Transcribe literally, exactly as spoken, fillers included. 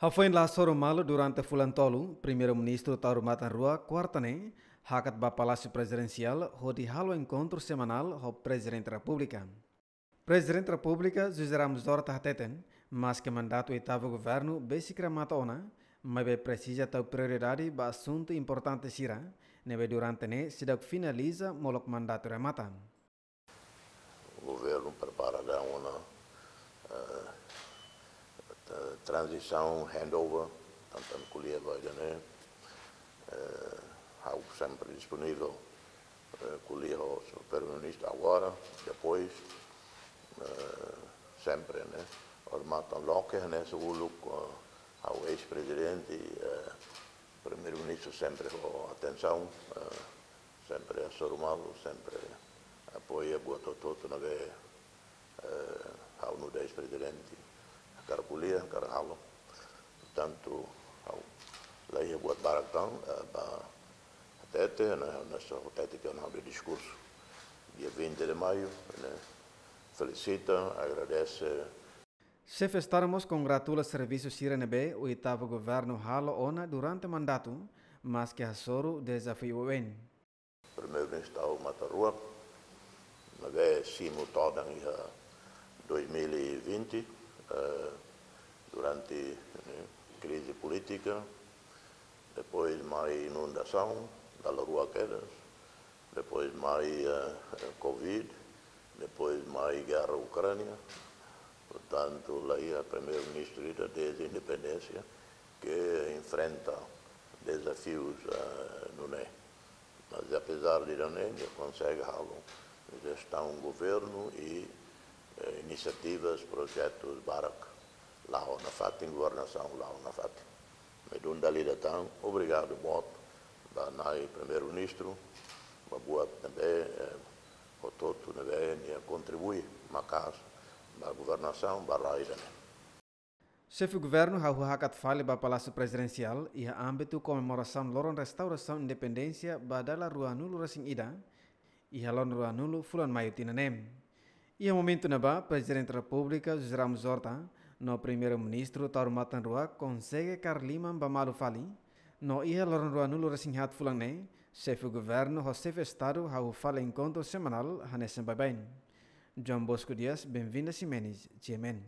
Hafoin la hasoru malu durante fulan tolu, Primeiru-Ministru Taur Matan Ruak, kuarta ne'e, hakat ba Palásiu Prezidensiál hodi halo enkontru semanál ho Prezidente Repúblika. Prezidente Repúblika José Ramos Horta hateten, maske mandatu oitavu governu besik remata ona, maibé presiza tau prioridade ba asuntu importante sira ne'ebé durante ne'e seidauk finaliza molok mandatu remata. Governu prepara daudaun ona, eh, tra-, tranzisaun, handover, tantan ko'alia ba ida-ne'e, eh, ha'u sempre disponível, eh, ko'alia ho Primeiru-Ministru agora, depois, eh, sempre, ne'e? Hormatan loke, ne'e, uluk, eh, ha'u eis-prezidente, eh, Primeiru-Ministru sempre ho atensaun, eh, sempre hasoru malu, sempre apoia buat hotu-hotu ne'ebé, eh, ha'u nu'udar eis-prezidente hakarak ko'alia, hakarak halo. Portantu, ha'u la iha buat barak tan, eh, ba hatete, ne'e, ne'e só hatete ke ona de diskursu dia vinte de maio, ne'e, felisita, agradese. Xefe Estadu mós kongratula servisu sira ne'ebé oitavu governu halo ona durante mandatu, maske hasoru dezafiu oioin. Primeiru-Ministru Taur Matan Ruak, ne'ebé simu todan iha dois mil e vinte, eh, durante, ne'e, krize polítika, depois mai inundasaun, dala rua kedas, depois mai, eh, covid, depois mai gerra Ukránia. Portantu, la iha Primeiru-Ministru ida dezde independénsia ke enfrenta dezafius, eh, nune'e. Mas, apezar de nune'e, nia konsege halo jestaun governu i, eh, inisiativas, projetus barak la'o nafatin, governasaun la'o nafatin. Ne'e duni dala ida tan, obrigadu boot ba Na'i Primeiru-Ministru, ba buat ne'ebé, eh, hotu-hotu ne'ebé nia kontribui maka'as ba governasaun ba rai ida-ne'e. Xefe Governu hahú hakat fali ba Palásiu Prezidensiál iha ámbitu komemorasaun loron restaurasaun independénsia ba dala ruanulu-resin-ida, iha loron ruanulu fulan Maiu tinan ne'e. Iha momentu ne'ebá, Prezidente Repúblika José Ramos Horta no Primeiru-Ministru Taur Matan Ruak konsege kaer liman ba malu fali, no iha loron ruanulu-resin-haat fulan ne'e, Xefe Governu ho Xefe Estadu hahú fali enkontru semanál hanesan baibain. João Bosco Dias, Benvinda Ximenes, G M N.